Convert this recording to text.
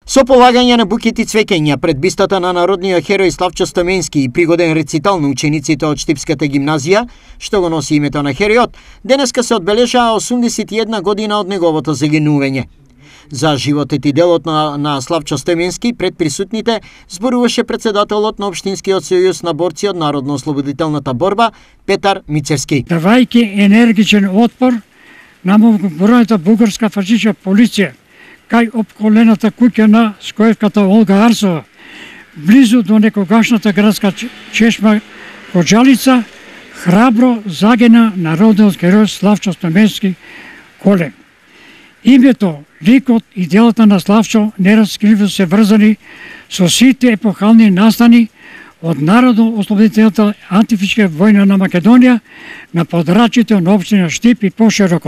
Со полагање на букети цвеќења пред бистата на народниот херој Славчо Стоменски и пригоден рецитал на учениците од Штипската гимназија, што го носи името на херојот, денеска се одбележаа 81 година од неговото загинување. За животот и делот на Славчо Стоменски пред присутните зборуваше председателот на Општинскиот сојуз на борци од Народно-ослободителната борба Петар Мицевски. Давајќи енергичен отпор на многобројната бугарска фашистичка полиција кај опколената куќа на скоевката Олга Арсова, близу до некогашната градска чешма Коџалица, храбро загина народниот херој Славчо Стоменски Колем. Името, ликот и делата на Славчо нераскривно се врзани со сите епохални настани од Народно-ослободителната антифашистичка војна на Македонија на подрачјето на општина Штип и пошироко.